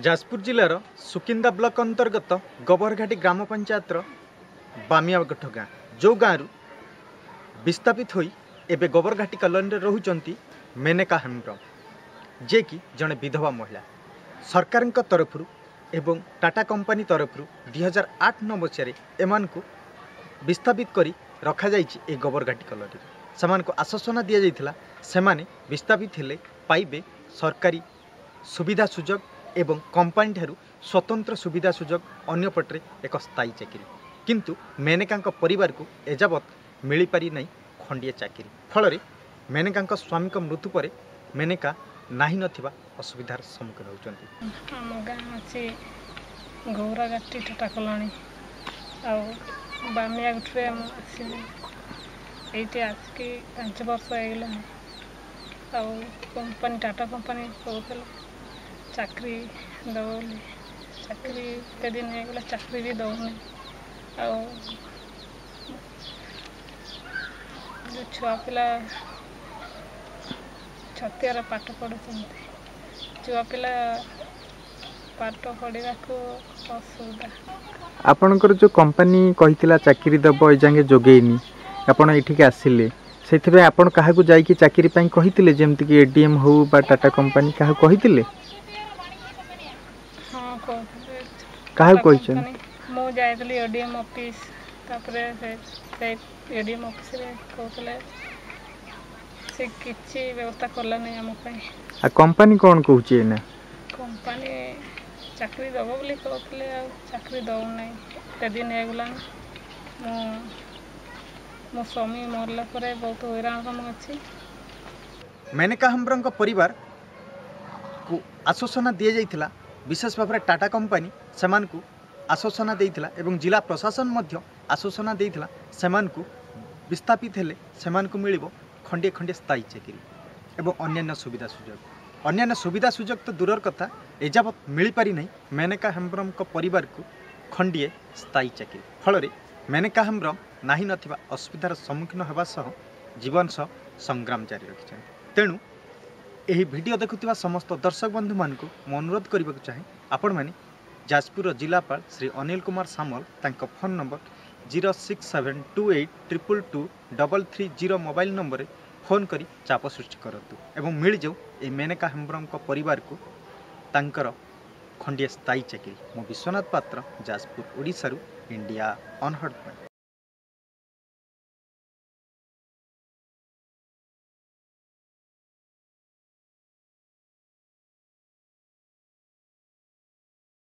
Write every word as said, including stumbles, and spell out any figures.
ଯାଜପୁର ଜିଲ୍ଲାର ସୁକିନ୍ଦା ବ୍ଲକ ଅନ୍ତର୍ଗତ ଗୋବରଘାଟି ଗ୍ରାମ ପଞ୍ଚାୟତର ବାମିଆଗଠ ଗାଁ, ଯେଉଁ ଗାଁରୁ ବିସ୍ଥାପିତ ହୋଇ ଏବେ ଗୋବରଘାଟି କଲୋନୀରେ ରହୁଛନ୍ତି ମେନକା ହେମ୍ବ୍ରମ, ଯିଏକି ଜଣେ ବିଧବା ମହିଳା। ସରକାରଙ୍କ ତରଫରୁ ଏବଂ ଟାଟା କମ୍ପାନୀ ତରଫରୁ ଦୁଇହଜାର ଆଠ ନଅ ମସିହାରେ ଏମାନଙ୍କୁ ବିସ୍ଥାପିତ କରି ରଖାଯାଇଛି ଏହି ଗୋବରଘାଟି କଲୋନୀରେ। ସେମାନଙ୍କୁ ଆଶ୍ୱାସନା ଦିଆଯାଇଥିଲା, ସେମାନେ ବିସ୍ଥାପିତ ହେଲେ ପାଇବେ ସରକାରୀ ସୁବିଧା ସୁଯୋଗ ଏବଂ କମ୍ପାନୀ ଠାରୁ ସ୍ୱତନ୍ତ୍ର ସୁବିଧା ସୁଯୋଗ, ଅନ୍ୟପଟରେ ଏକ ସ୍ଥାୟୀ ଚାକିରି। କିନ୍ତୁ ମେନକାଙ୍କ ପରିବାରକୁ ଏଯାବତ୍ ମିଳିପାରି ନାହିଁ ଖଣ୍ଡିଏ ଚାକିରି। ଫଳରେ ମେନକାଙ୍କ ସ୍ୱାମୀଙ୍କ ମୃତ୍ୟୁ ପରେ ମେନକା ନାହିଁ ନଥିବା ଅସୁବିଧାର ସମ୍ମୁଖୀନ ହେଉଛନ୍ତି। ଆମ ଗାଁ ଅଛି ଗୌରାଘାଟି ଟାଟା କଲୋନୀ, ଆଉ ବାମିଆଗୁଠିରେ ମୁଁ ଆସିଲି। ଏଇଠି ଆସିକି ପାଞ୍ଚ ବର୍ଷ ହେଇଗଲାଣି। ଆଉ କମ୍ପାନୀ, ଟାଟା କମ୍ପାନୀ କହୁଥିଲା ଚାକିରି ଦେବ ବୋଲି। ଚାକିରି ଏତେ ଦିନ ହେଇଗଲା, ଚାକିରି ବି ଦେଉନି। ଆଉ ଯେଉଁ ଛୁଆ ପିଲା ଛତିଆରେ ପାଠ ପଢ଼ୁଛନ୍ତି, ଛୁଆ ପିଲା ପାଠ ପଢ଼ିବାକୁ ଅସୁବିଧା। ଆପଣଙ୍କର ଯେଉଁ କମ୍ପାନୀ କହିଥିଲା ଚାକିରି ଦେବ, ଏଯାଏଁ ଯୋଗେଇନି। ଆପଣ ଏଠିକି ଆସିଲେ, ସେଥିପାଇଁ ଆପଣ କାହାକୁ ଯାଇକି ଚାକିରି ପାଇଁ କହିଥିଲେ? ଯେମିତିକି ଏ ଡି ଏମ୍ ହଉ ବା ଟାଟା କମ୍ପାନୀ, କାହାକୁ କହିଥିଲେ? ହଁ, କହୁଥିଲେ। କାହାକୁ କହିଛନ୍ତି? ମୁଁ ଯାଇଥିଲି ଏ ଡି ଏମ୍ ଅଫିସ୍, ତାପରେ ସେ ଏ ଡି ଏମ୍ ଅଫିସରେ କହୁଥିଲେ, ସେ କିଛି ବ୍ୟବସ୍ଥା କଲାନି ଆମ ପାଇଁ। ଆଉ କମ୍ପାନୀ କ'ଣ କହୁଛି ଏଇନା? କମ୍ପାନୀ ଚାକିରି ଦେବ ବୋଲି କହୁଥିଲେ, ଆଉ ଚାକିରି ଦେଉନାହିଁ। ଏତେ ଦିନ ହେଇଗଲାଣି। ମୁଁ ମୋ ସ୍ୱାମୀ ମରିଲା ପରେ ବହୁତ ହଇରାଣରେ ମୁଁ ଅଛି। ମେନକା ହେମ୍ବ୍ରମଙ୍କ ପରିବାରକୁ ଆଶ୍ୱାସନା ଦିଆଯାଇଥିଲା, ବିଶେଷ ଭାବରେ ଟାଟା କମ୍ପାନୀ ସେମାନଙ୍କୁ ଆଶ୍ୱାସନା ଦେଇଥିଲା ଏବଂ ଜିଲ୍ଲା ପ୍ରଶାସନ ମଧ୍ୟ ଆଶ୍ୱାସନା ଦେଇଥିଲା, ସେମାନଙ୍କୁ ବିସ୍ଥାପିତ ହେଲେ ସେମାନଙ୍କୁ ମିଳିବ ଖଣ୍ଡିଏ ଖଣ୍ଡିଏ ସ୍ଥାୟୀ ଚାକିରି ଏବଂ ଅନ୍ୟାନ୍ୟ ସୁବିଧା ସୁଯୋଗ। ଅନ୍ୟାନ୍ୟ ସୁବିଧା ସୁଯୋଗ ତ ଦୂରର କଥା, ଏଯାବତ୍ ମିଳିପାରି ନାହିଁ ମେନକା ହେମ୍ବ୍ରମଙ୍କ ପରିବାରକୁ ଖଣ୍ଡିଏ ସ୍ଥାୟୀ ଚାକିରି। ଫଳରେ ମେନକା ହେମ୍ବ୍ରମ ନାହିଁ ନଥିବା ଅସୁବିଧାର ସମ୍ମୁଖୀନ ହେବା ସହ ଜୀବନ ସହ ସଂଗ୍ରାମ ଜାରି ରଖିଛନ୍ତି। ତେଣୁ ଏହି ଭିଡ଼ିଓ ଦେଖୁଥିବା ସମସ୍ତ ଦର୍ଶକ ବନ୍ଧୁମାନଙ୍କୁ ମୁଁ ଅନୁରୋଧ କରିବାକୁ ଚାହେଁ, ଆପଣମାନେ ଯାଜପୁରର ଜିଲ୍ଲାପାଳ ଶ୍ରୀ ଅନିଲ କୁମାର ସାମଲ, ତାଙ୍କ phone number zero six seven two eight triple two double three zero mobile ନମ୍ବରରେ ଫୋନ୍ କରି ଚାପ ସୃଷ୍ଟି କରନ୍ତୁ ଏବଂ ମିଳିଯାଉ ଏହି ମେନକା ହେମ୍ବ୍ରମଙ୍କ ପରିବାରକୁ ତାଙ୍କର ଖଣ୍ଡିଏ ସ୍ଥାୟୀ ଚାକିରି। ମୁଁ ବିଶ୍ୱନାଥ ପାତ୍ର, ଯାଜପୁର, ଓଡ଼ିଶାରୁ ଇଣ୍ଡିଆ ଅନହର୍ଡ଼ ପାଇଁ।